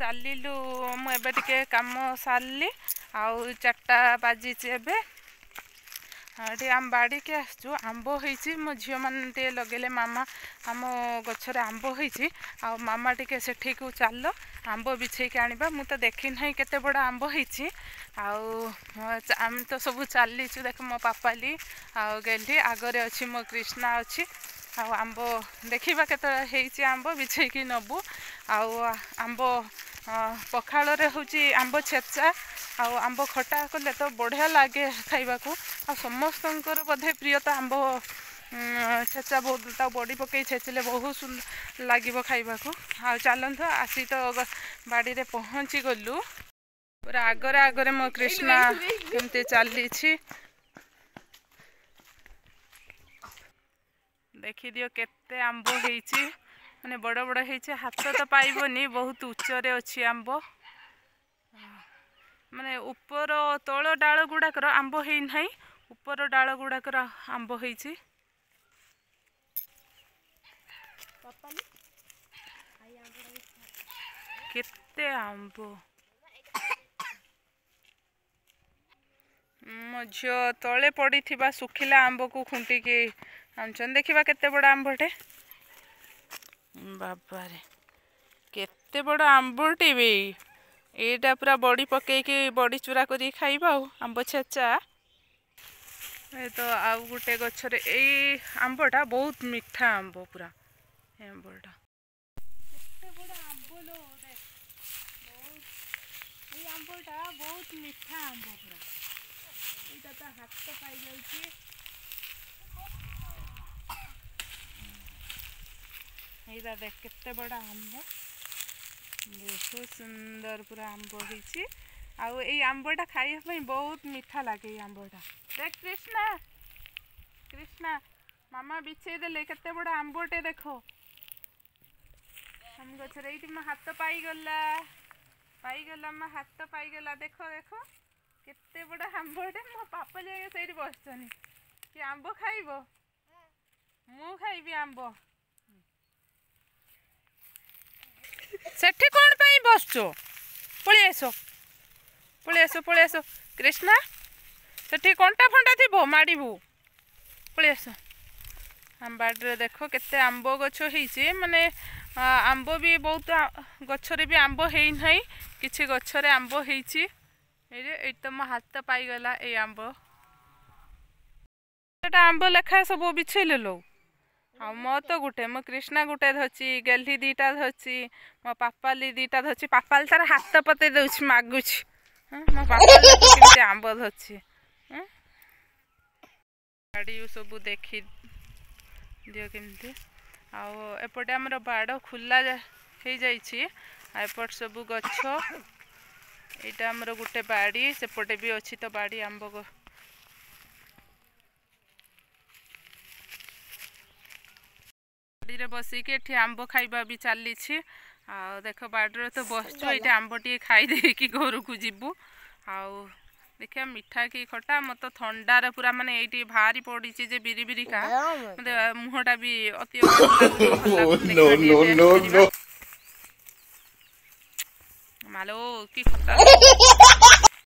ଚାଲିଲୁ। ମୁଁ ଏବେ ଟିକେ କାମ ସାରିଲି ଆଉ 4ଟା ବାଜିଛି ଏବେ। ଟିକେ ଆମ ବାଡ଼ିକି ଆସିଛୁ, ଆମ୍ବ ହେଇଛି। ମୋ ଝିଅମାନେ ଟିକେ ଲଗେଇଲେ, ମାମା ଆମ ଗଛରେ ଆମ୍ବ ହେଇଛି ଆଉ ମାମା ଟିକେ ସେଠିକୁ ଚାଲ, ଆମ୍ବ ବିଛେଇକି ଆଣିବା। ମୁଁ ତ ଦେଖି ନାହିଁ କେତେ ବଡ଼ ଆମ୍ବ ହେଇଛି। ଆଉ ଆମେ ତ ସବୁ ଚାଲିଛୁ। ଦେଖ ମୋ ପାପାଲି ଆଉ ଗେଲି ଆଗରେ ଅଛି, ମୋ କୃଷ୍ଣା ଅଛି। ଆଉ ଆମ୍ବ ଦେଖିବା କେତେ ହେଇଛି, ଆମ୍ବ ବିଛେଇକି ନେବୁ। ଆଉ ଆମ୍ବ ପଖାଳରେ ହେଉଛି ଆମ୍ବ ଛେଚା ଆଉ ଆମ୍ବ ଖଟା କଲେ ତ ବଢ଼ିଆ ଲାଗେ ଖାଇବାକୁ। ଆଉ ସମସ୍ତଙ୍କର ବୋଧେ ପ୍ରିୟ ତ ଆମ୍ବ ଛେଚା ବହୁତ, ତାକୁ ବଡ଼ି ପକେଇ ଛେଚିଲେ ବହୁତ ସୁନ୍ଦର ଲାଗିବ ଖାଇବାକୁ। ଆଉ ଚାଲନ୍ତୁ, ଆସି ତ ବାଡ଼ିରେ ପହଞ୍ଚି ଗଲୁ। ପୁରା ଆଗରେ ଆଗରେ ମୋ କୃଷ୍ଣା କେମିତି ଚାଲିଛି ଦେଖିଦିଅ। କେତେ ଆମ୍ବ ହେଇଛି, ମାନେ ବଡ଼ ବଡ଼ ହେଇଛି, ହାତ ତ ପାଇବନି, ବହୁତ ଉଚ୍ଚରେ ଅଛି ଆମ୍ବ। ମାନେ ଉପର ତଳ ଡାଳ ଗୁଡ଼ାକର ଆମ୍ବ ହେଇନାହିଁ, ଉପର ଡାଳ ଗୁଡ଼ାକର ଆମ୍ବ ହେଇଛି। କେତେ ଆମ୍ବ! ମୋ ଝିଅ ତଳେ ପଡ଼ିଥିବା ଶୁଖିଲା ଆମ୍ବକୁ ଖୁଣ୍ଟିକି ଆଣୁଛନ୍ତି। ଦେଖିବା କେତେ ବଡ଼ ଆମ୍ବଟେ। ବାବାରେ, କେତେ ବଡ଼ ଆମ୍ବଟେ ବି! ଏଇଟା ପୁରା ବଡ଼ି ପକେଇକି ବଡ଼ି ଚୁରା କରିକି ଖାଇବା ଆଉ ଆମ୍ବ ଛେଚା। ଏ ତ ଆଉ ଗୋଟେ ଗଛରେ ଏଇ ଆମ୍ବଟା ବହୁତ ମିଠା ଆମ୍ବ ପୁରା। ଏ ଆମ୍ବଟା କେତେ ବଡ଼ ଆମ୍ବ ଲୋ, ଦେଖ। ବହୁତ ଏଇ ଆମ୍ବଟା ବହୁତ ମିଠା ଆମ୍ବ ପୁରା। ଏଇଟା ତ ହାତ ପାଇଯାଉଛି। ଏଇଟା ଦେଖ କେତେ ବଡ଼ ଆମ୍ବ, ବହୁତ ସୁନ୍ଦର ପୁରା ଆମ୍ବ ହେଇଛି। ଆଉ ଏଇ ଆମ୍ବଟା ଖାଇବା ପାଇଁ ବହୁତ ମିଠା ଲାଗେ ଏଇ ଆମ୍ବଟା। ଦେଖ କୃଷ୍ଣା, କୃଷ୍ଣା, ମାମା ବିଛେଇ ଦେଲେ କେତେ ବଡ଼ ଆମ୍ବଟେ ଦେଖ ଆମ ଗଛରେ। ଏଇଠି ମୋ ହାତ ପାଇଗଲା, ପାଇଗଲା, ମୋ ହାତ ପାଇଗଲା। ଦେଖ ଦେଖ କେତେ ବଡ଼ ଆମ୍ବଟେ। ମୋ ପାପା ଯାଇକି ସେଇଠି ବସିଛନ୍ତି। କି ଆମ୍ବ ଖାଇବ? ମୁଁ ଖାଇବି ଆମ୍ବ। ସେଠି କ'ଣ ପାଇଁ ବସୁଛୁ? ପଳେଇ ଆସ, ପଳେଇ ଆସ, ପଳେଇ ଆସ କୃଷ୍ଣା। ସେଠି କଣ୍ଟା ଫଣ୍ଟା ଥିବ, ମାଡ଼ିବୁ। ପଳେଇ ଆସ। ଆମ ବାଡ଼ିରେ ଦେଖ କେତେ ଆମ୍ବ ଗଛ ହେଇଛି। ମାନେ ଆମ୍ବ ବି ବହୁତ ଗଛରେ ବି ଆମ୍ବ ହେଇନାହିଁ, କିଛି ଗଛରେ ଆମ୍ବ ହେଇଛି। ଏଇ ଏଇଠି ତ ମୋ ହାତ ପାଇଗଲା ଏଇ ଆମ୍ବ। ଏଟା ଆମ୍ବ ଲେଖା ସବୁ ବିଛେଇଲେ ଲୋ। ଆଉ ମୋ ତ ଗୋଟେ, ମୋ କୃଷ୍ଣା ଗୋଟେ ଧରିଛି, ଗେହ୍ଲି 2ଟା ଧରିଛି, ମୋ ପାପାଲି 2ଟା ଧରିଛି। ପାପାଲି ତାର ହାତ ପତେଇ ଦେଉଛି, ମାଗୁଛି। ମୋ ପାପାଲି କେମିତି ଆମ୍ବ ଧରିଛି। ଗାଡ଼ି ସବୁ ଦେଖି ଦିଅ କେମିତି। ଆଉ ଏପଟେ ଆମର ବାଡ଼ ଖୋଲା ହେଇଯାଇଛି, ଆଉ ଏପଟ ସବୁ ଗଛ। ଏଇଟା ଆମର ଗୋଟେ ବାଡ଼ି, ସେପଟେ ବି ଅଛି ତ ବାଡ଼ି। ଆମ୍ବ ବାଡ଼ିରେ ବସିକି ଏଠି ଆମ୍ବ ଖାଇବା ବି ଚାଲିଛି। ଆଉ ଦେଖ, ବାଡ଼ିରେ ତ ବସିଛୁ, ଏଇଠି ଆମ୍ବ ଟିକେ ଖାଇ ଦେଇକି ଘରକୁ ଯିବୁ। ଆଉ ଦେଖିବା ମିଠା କି ଖଟା। ମୋତେ ଥଣ୍ଡାରେ ପୁରା ମାନେ ଏଇଠି ଭାରି ପଡ଼ିଛି ଯେ ବିରି ବିରିକା, ମୋତେ ମୁହଁଟା ବି ଅତି। ମାଲୋ, କି ଖଟା!